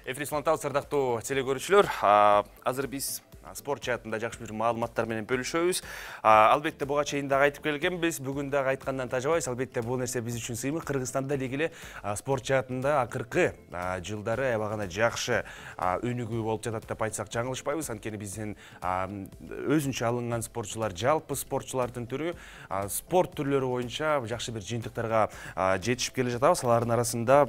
Эфир саламатсыздар, сардактуу телекөрүүчүлөр. Азыр биз спорт жаатында жакшы бир маалыматтар менен бөлүшөбүз. Албетте буга чейин дагы айтып келгенбиз, бүгүн дагы айткандан тажабайбыз. Албетте бул нерсе биз үчүн сыймык. Кыргызстанда деги эле спорт жаатында акыркы жылдары аябагана жакшы өнүгүү болуп жатат деп айтсак жаңылышпайбыз. Анткени биздин өзүнчө алынган спортчулар, жалпы спортчулардын түрү спорт түрлөрү боюнча жакшы бир жыйынтыктарга жетишип келе жатабыз. Алардын арасында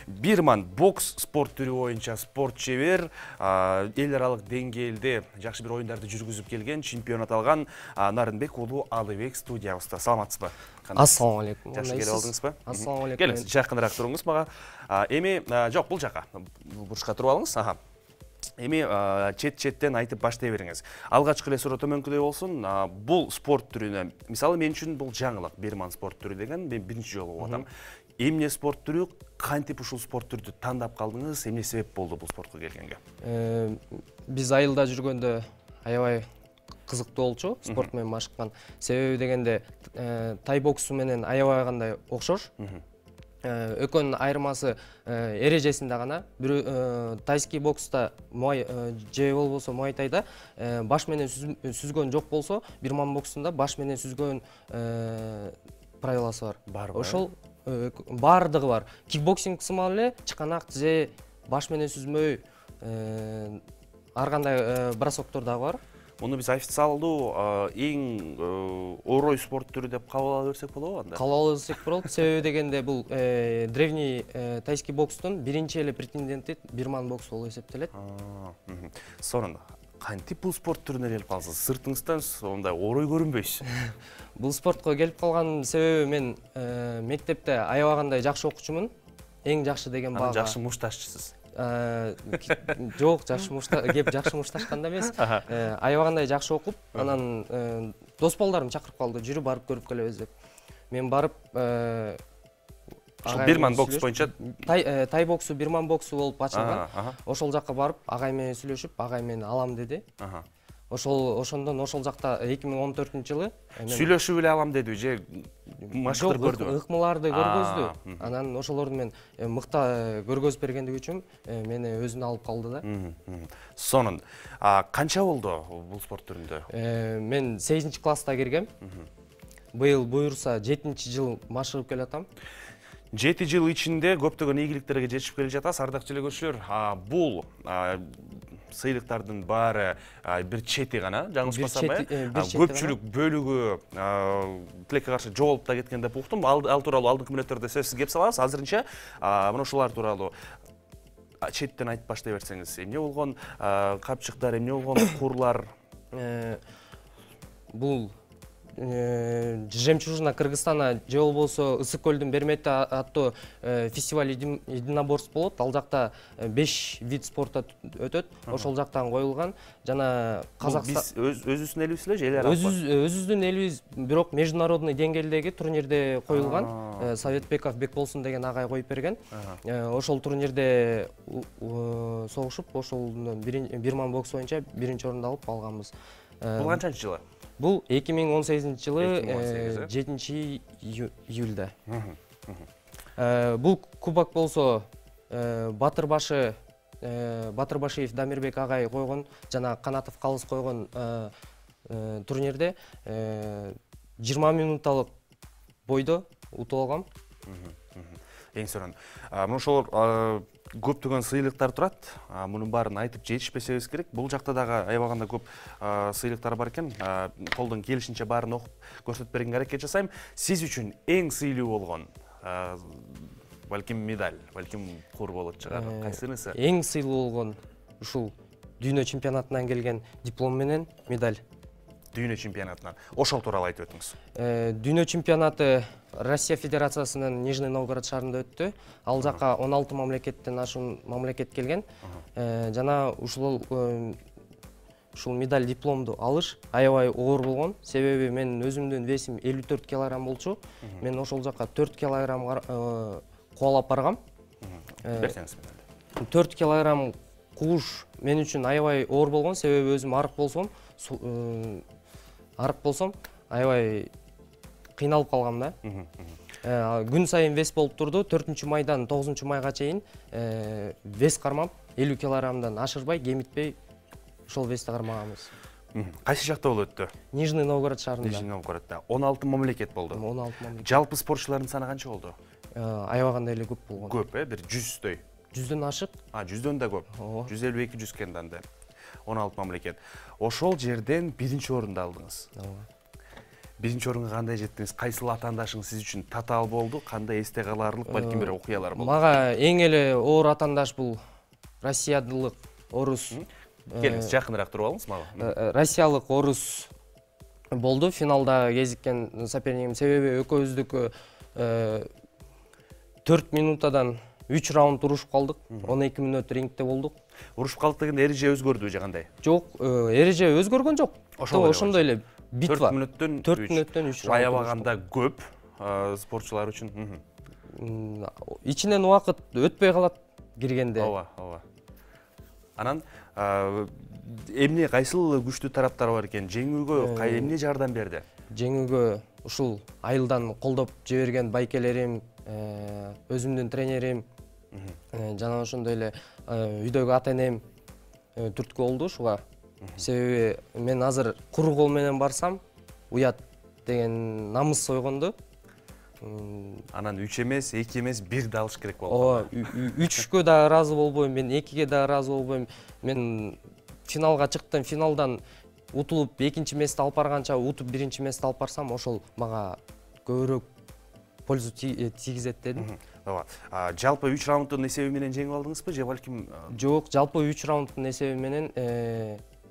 Бирман бокс спорт түрү боюнча спорт чебер, эл аралык деңгээлде жакшы бир оюндарды жүргүзүп келген, чемпионат алган Нарынбек уулу Алыбек студиябызда. Саламатсызбы? Ассаламу алейкум. Жакшы келип алдыңызбы? Ассаламу алейкум. Келиңиз, жакыныраак туруңуз мага. Эми жок, бул жака. Бурчка туруп алыңыз. Эми чет-четтен айтып баштай бериңиз. Алгачкы эле суроо төмөнкүдөй болсун. Бул спорт түрүнө, мисалы мен үчүн бул жаңылык, Бирман спорт түрү деген мен биринчи жолу угуп атам. Эмне спорт түрү, кантип ушул спорт түрдү тандап калдыңыз, эмне себеп болду бул спортко келгенге? Биз айылда жүргөндө аябай кызыктуу болчу спорт менен машыккан. Себеби дегенде тай боксу менен аябай кандай окшош. Экөөнүн айырмасы эрежесинде гана. Бирөө тайский бокста же болбосо муайтайда баш менен сүзгөн жок болсо, Бирман боксунда баш менен сүзгөн правиласы бар. Ошол бардыгы бар. Кикбоксинг сымал эле чыканак же баш менен сүзмөй ар кандай бросоктор дагы бар. Муну биз официалдуу эң орой спорт түрү деп кабыл ала берсек болобу анда? Кабыл ала берсек болот. Себеби дегенде бул древний тайский бокстун биринчи эле претенденти Бирман бокс болуп эсептелет. Сонун кантип бул спорт түрүнө келип калдыңыз? Сыртыңыздан ондай орой көрүнбөйсүз. Бул спортко келип калган себеби мен мектепте аябагандай жакшы окуучумун. Эң жакшы деген бага. Жакшы мушташчысыз. Жок, жакшы мушташканда эмес. Аябагандай жакшы окуп, анан дос балдарым чакырып калды, жүрүп барып көрүп келебиз деп. Мен барып Бирман бокс боюнча тай боксу, Бирман боксу болуп ачылган. Ошол жакка барып, агай менен сүйлөшүп, агай мен алам деди. Ошондон ошол жакта 2014-жылы сүйлөшүп эле алам дедиби же машыктыр көрдүбү? Ыкмаларды көргөздү. Анан ошолорду мен мыкта көргөзүп бергендиги үчүн мени өзүнө алып калды да. Сонун. Канча болду бул спорт түрүндө? Мен 8-класста киргем. Быйыл буюрса 7-жыл машыгып келатам. 7 жыл ичинде көптөгөн ийгиликтерге жетишип келе жатасыз. Ардактуу телекөрүүчүлөр, бул сыйлыктардын баары бир чети гана, жаңылышпасам э? Көпчүлүк бөлүгү тилекке каршы жоголуп да кеткен деп уктум. Ал тууралуу алдыңкы мүнөттөрдө сөзсүз кеп салабыз. Азырынча мына ушулар тууралуу четтен айтып баштай берсеңиз. Эмне болгон капчыктар, эмне болгон курлар? Бул Жемчужина Кыргызстана же болбосо Ысык көлдүн Бермети аттуу фестиваль единоборств болот. Ал жакта 5 вид спорта өтөт. Ошол жактан коюлган. Жана Казакстан өзүбүздүн элибиз эле же эл аралык? Өзүбүздүн элибиз, бирок международный деңгээлдеги турнирде коюлган. Советбеков Бекболсун деген агай коюп берген. Ошол турнирде согушуп, ошол Бирман бокс боюнча биринчи орунду алганбыз. Бул канчанчы жылы? Бул 2018-жылы 7-июлда. Бул кубок болсо Батырбашиев Дамирбек агай койгон жана Канатов Калыс койгон турнирде 20 минутталык бойдо утуп алгам. Эң сонун. Мына ошолор көптөгөн сыйлыктар турат. Мунун баарын айтып жетишпесебиз керек. Бул жакта дагы аябаганда көп сыйлыктар бар экен. Колдон келишинче баарын окуп көрсөтүп бергенге аракет жасайм. Сиз үчүн эң сыйлуу болгон балким медаль, балким кур болот чыгар. Кайсынысы? Эң сыйлуу болгон ушул дүйнө чемпионатынан келген диплом менен медаль. Дүйнө чемпионатынан. Ошол тууралуу айтып өтүңүз. Дүйнө чемпионаты Россия Федерациясынын Нижний Новгород шаарында өттү. Ал жакка 16 мамлекеттен ашуун мамлекет келген. Жана ушул медаль дипломду алыш аябай оор болгон. Себеби мен өзүмдүн весим 54 килограмм болчу. Мен ошол жакка 4 килограмм кубалап баргам. Берсеңиз. 4 килограмм кууш мен үчүн аябай оор болгон. Себеби өзүм арык болсом, аябай кыйналып калгам да. Күн сайын вес болуп турду. 4-майдан 9-майга чейин вес кармап 50 килограммдан ашырбай, кемитпей ошол вести кармаганбыз. Кайсы жакта болуп өттү? Нижний Новгород шаарында. Нижний Новгороддо 16 мамлекет болду. 16 мамлекет. Жалпы спортчулардын саны канча болду? Аябагандай эле көп болгон. Көп, бир 100дөй. 100дөн ашык. 100дөн да көп. 152-100 кенданда. 16 мамлекет. Ошол жерден биринчи орунду алдыңыз. Биринчи орунга кандай жеттиңиз? Кайсыл атаандашыңыз сиз үчүн татаал болду? Кандай эсте калаарлык балким бир окуялар болду? Мага эң эле оор атаандаш бул Россиялык орус. Келиңиз, жакыныраак туруп алыңыз мага. Россиялык орус болду. Финалда кезиккен сопернигим, себеби экөөбүздүкү 4 минутадан 3 раунд урушуп калдык. 12 мүнөт рингде болдук. Урушуп калдык дегенде эреже өзгөрдү же кандай? Жок, эреже өзгөргөн жок. Ошондой эле битва. 4 мүнөттөн 3 раунд. Аябаганда көп спортчулар үчүн. Ичинен убакыт өтпөй калат киргенде. Ооба. Анан эмне кайсыл күчтүү тараптар бар экен? Жеңүүгө эмне жардам берди? Жеңүүгө ушул айылдан колдоп жиберген байкелерим, өзүмдүн тренерим, жана ошондой эле үйдөгү ата-энем түрткү болду ушуга. Себеби мен азыр куру кол менен барсам, уят деген намыс ойгонду. Анан 3 эмес, 2 эмес, 1 да алыш керек болду. Ооба, 3кө да ыраазы болбойм, мен 2ге да ыраазы болбойм. Мен финалга чыктым, финалдан утулуп 2-мести алып барганча утуп 1-мести алып барсам, ошол мага көбүрөөк пользу тийгизет дедим. Ооба. Жалпы 3 раунддун эсеби менен жеңип алдыңызбы же балким? Жок, жалпы 3 раунддун эсеби менен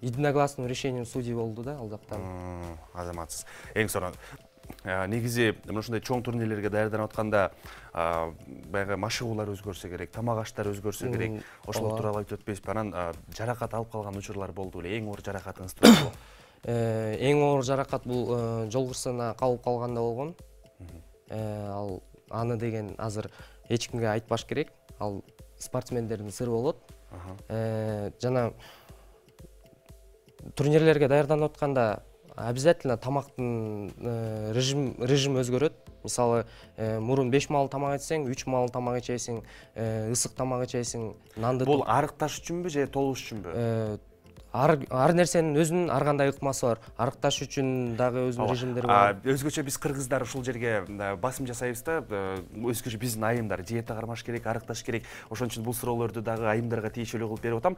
единогласным решением судей болду да ал жактан. Азаматсыз. Эң сонун. Негизи мына ушундай чоң турнирлерге даярданып атканда баягы машыгуулар өзгөрсө керек, тамак аштар өзгөрсө керек. Ошол тууралуу айтып өтпөйсүзбү? Анан жаракат алып калган учурлар болду беле? Эң оор жаракатыңыз тууралуу? Эң оор жаракат бул жол кырсыгына кабылып калганда болгон. Ал аны деген азыр эч кимге айтпаш керек. Ал спортсмендердин сыры болот. Жана турнирлерге даярданып атканда обязательно тамактын режим өзгөрөт. Мисалы, мурун 5 маал тамак ичсең, 3 маал тамак ичесиң, ысык тамак ичесиң, нанды. Бул арыкташ үчүнбү же толуш үчүнбү? Ар нерсенин өзүнүн ар кандай ыкмасы бар. Арыкташ үчүн дагы өзүнүн режимдери бар. Өзгөчө биз кыргыздар ушул жерге басым жасайбыз да, өзгөчө биздин айымдар диета кармаш керек, арыкташ керек. Ошон үчүн бул суроолорду дагы айымдарга тиешелүү кылып берип атам.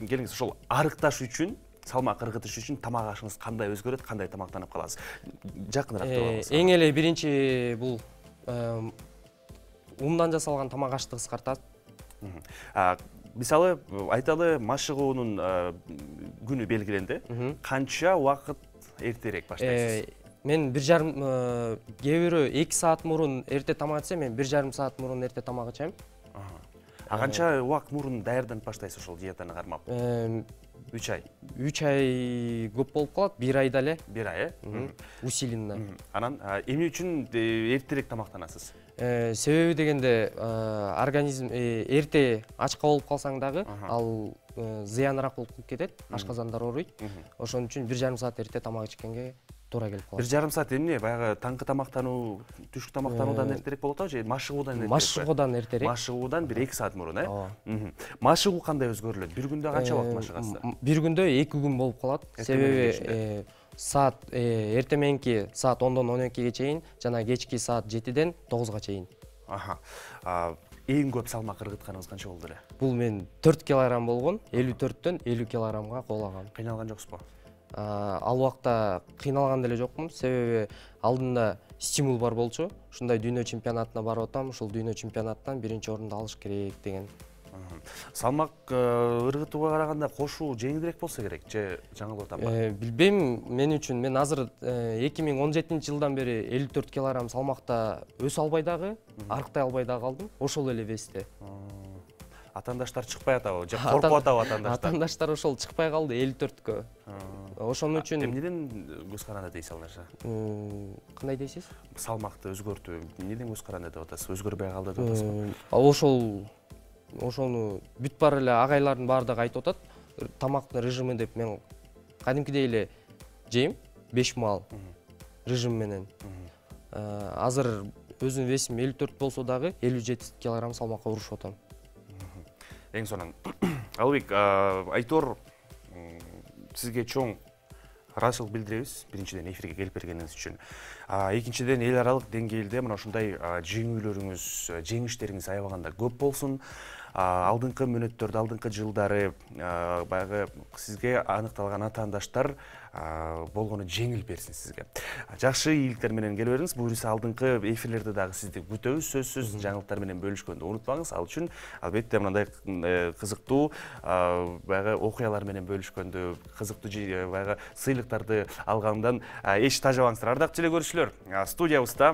Келиңиз, ошол арыкташ үчүн, салмак ыргытыш үчүн тамак ашыңыз кандай өзгөрөт, кандай тамактанып каласыз? Жакыныраак турабыз. Эң эле биринчи бул ундан жасалган тамак ашты кыскартат. Мисалы, айталы, машыгуунун күнү белгиленди. Канча убакыт эртерээк баштайсыз? Мен 1,5 кээ бирөө 2 саат мурун эрте тамак ичсем, мен 1,5 саат мурун эрте тамак ичем. Канча убакыт мурун даярданып баштайсыз ошол диетаны кармап? 3 ай. 3 ай көп болуп калат, 1 айда эле. 1 ай, усиленно. Анан эмне үчүн эртерээк тамактанасыз? Себеби дегенде организм эрте ачка болуп калсаң дагы ал зыяныраак болуп кетет, ашказандар ооруйт. Ошон үчүн 1,5 саат эрте тамак ичкенге туура келип калат. 1,5 саат эмне? Баягы таңкы тамактануу, түшкү тамактануудан эртерээк болот же машыгуудан эртерээк? Машыгуудан эртерээк. Машыгуудан 1-2 саат мурун, Машыгуу кандай өзгөрүлөт? Бир күндө канча убакыт машыгасыз? Бир күндө 2 күн болуп калат. Себеби саат эрте мененки саат 10дон 12ге чейин жана кечки саат 7ден 9га чейин. Эң көп салмак ыргытканыңыз канча болду эле? Бул мен 4 килограмм болгон, 54төн 50 килограммга коолагам. Кыйналган жоксузбу? Ал убакта кыйналган деле жокмун, себеби алдында стимул бар болчу. Ушундай дүйнө чемпионатына барып атам, ушул дүйнө чемпионаттан биринчи орунду алыш керек деген. Салмак ыргытууга караганда кошуу жеңилирээк болсо керек же жаңылып атамбы? Билбейм, мен үчүн мен азыр 2017-жылдан бери 54 килограмм салмакта өсө албай дагы, арыктай албай дагы калдым. Ошол эле весте. Атаандаштар чыкпай атабы же коркуп атабы атаандаштар? Атаандаштар ошол чыкпай калды 54кө. Ошон үчүн эмнеден көз каранды дейсиз аларча? Кандай дейсиз? Салмакты өзгөртүү эмнеден көз каранды деп атасыз? Өзгөрбөй калды деп атасызбы? Ошону бүт бар эле агайлардын баардыгы айтып атат. Тамактын режими деп мен кадимкидей эле жейм 5 маал режим менен. Азыр өзүмдүн весим 54 болсо дагы 57 килограмм салмакка урушуп атам. Эң сонун. Албек, Айтор, сизге чоң ыраазычылык билдиребиз. Биринчиден эфирге келип бергениңиз үчүн. Экинчиден эл аралык деңгээлде мына ушундай жеңүүлөрүңүз, жеңиштериңиз аябаганда көп болсун. Алдыңкы мөөнөттөрдө, алдыңкы жылдары баягы сизге аныкталган атаандаштар болгону жеңил берсин сизге. Жакшы ийгиликтер менен келе бериңиз. Буюрса алдыңкы эфирлерде дагы сизди күтөбүз. Сөзсүз жаңылыктар менен бөлүшкөндү унутпаңыз. Ал үчүн албетте мындай кызыктуу баягы окуялар менен бөлүшкөндү, кызыктуу баягы сыйлыктарды алгандан эч тажабаңыздар. Ардактуу телекөрүүчүлөр, студиябызда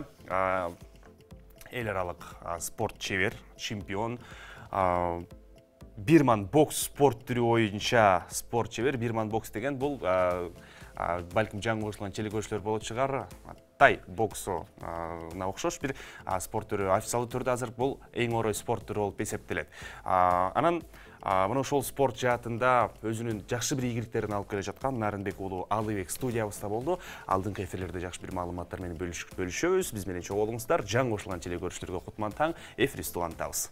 эл аралык спорт чебер, чемпион, бирман бокс спорт түрү боюнча спорт чебер. Бирман бокс деген бул балким жаңы кошулган телекөрүүчүлөр болот чыгар. Тай боксуна окшош бир спорт түрү. Официалдуу түрдө азыр бул эң орой спорт түрү болуп эсептелет. Анан мына ошол спорт жаатында өзүнүн жакшы бир ийгиликтерин алып келе жаткан Нарынбек уулу Алыбек студиябызда болду. Алдыңкы эфирлерде жакшы бир маалыматтар менен бөлүшөбүз. Биз менен чогуу болуңуздар. Жаңы кошулган телекөрүүчүлөргө кутман таң. Эфирибизди улантабыз.